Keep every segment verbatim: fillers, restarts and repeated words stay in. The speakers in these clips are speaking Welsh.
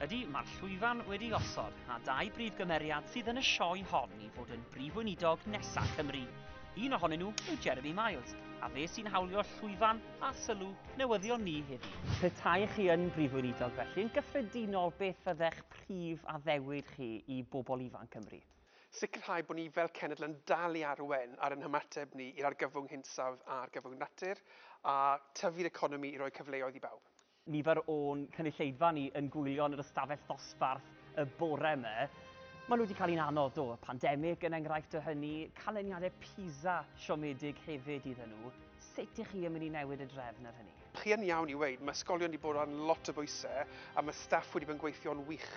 Ydy, mae'r llwyfan wedi osod a dau brif gymeriad sydd yn y sioe hon i fod yn brif weinidog nesaf Cymru. Un ohonyn nhw yw Jeremy Miles, a fe sy'n hawlio llwyfan a sylw newyddion ni heddi. Petai chi yn brif weinidog felly, yn gyffredinol beth fyddech prif addewid chi i bobl ifanc Cymru? Sicrhau bod ni fel cenedl yn dal i arwen ar ein hymateb ni i'r argyfwng hinsawdd a'r argyfwng natur a tyfu'r economi i roi cyfleoedd i bawb. Nifer o'n cynulleidfa ni yn gwylio yn yr ystafell ddosbarth y bore yma. Maen nhw wedi cael un anodd, do, y pandemig yn enghraifft o hynny, canlyniadau PISA siomedig hefyd iddyn nhw. Sut ych chi yn mynd i newid y drefn ar hynny? Chi yn iawn i weud, mae ysgolion wedi bod ar lot o bwysau a mae staff wedi bod yn gweithio'n wych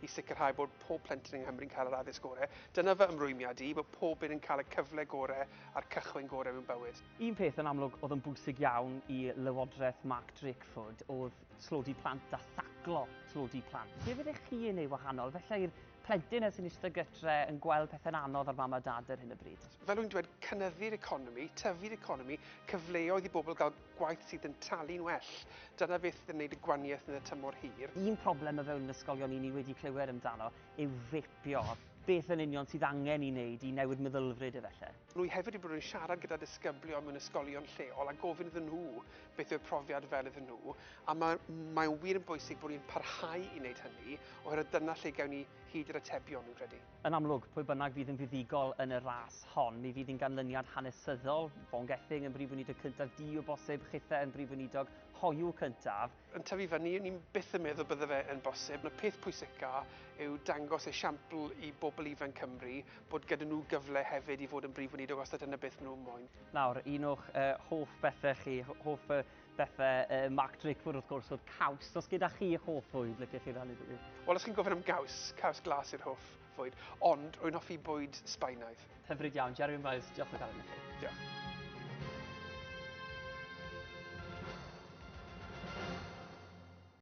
i sicrhau bod pob plentyn yng Nghymru'n cael yr addysg gorau. Dyna fy ymrwymiad i, bod pob un yn cael y cyfle gorau a'r cychwyn gorau mewn bywyd. Un peth yn amlwg oedd yn bwysig iawn i Lywodraeth Mark Drakeford oedd tlodi plant a thaclo tlodi plant. Be fyddech chi yn ei wahanol? Felly i'r plentyn sy'n eistedd gytre yn gweld pethau'n anodd ar mam a dad ar hyn o bryd? Fel wy'n dweud, cynyddu'r economi, tyfu'r economi, cyfleoedd i bobl gael gwaith sydd yn talu'n well. Dyna beth sydd yn gwneud y gwahaniaeth yn y tymor hir. Un problem o fewn ysgolion ni ni wedi clywed amdano yw fepio. Beth yn union sydd angen i wneud i newid meddylfryd efallai? Rwy hefyd wedi bod yn siarad gyda disgyblion mewn ysgolion lleol a gofyn iddyn nhw beth yw'r profiad fel iddyn nhw, a mae, mae'n wir yn bwysig bod ni'n parhau i wneud hynny, oherwydd dyna lle gawn ni hyd yr atebion, dwi'n credu. Yn amlwg, pwy bynnag fydd yn fuddugol yn y ras hon, mi fydd yn ganlyniad hanesyddol, Vaughan Gething yn brif weinidog cyntaf, du o bosib, chithe yn brif weinidog hoyw cyntaf. Yn tyfu fyny, ni'n byth yn meddwl bydde fe yn bosib. Y peth pwysica yw dangos esiampl i bobl ifanc Cymru bod gyda nhw gyfle hefyd i fod yn brif weinidog os dyna beth nhw'n moyn. Nawr, un o'ch uh, hoff bethau chi, hoff uh, bethau uh, Mark Drakeford wrth gwrs oedd caws. Os gyda chi hoff fwyd, lycech chi rannu dwi? Wel, os chi'n gofyn am gaws, caws glas yw'r hoff fwyd, ond rwy'n hoffi bwyd Sbaenaidd. Hyfryd iawn. Jeremy Miles, diolch o galon i chi. Diolch.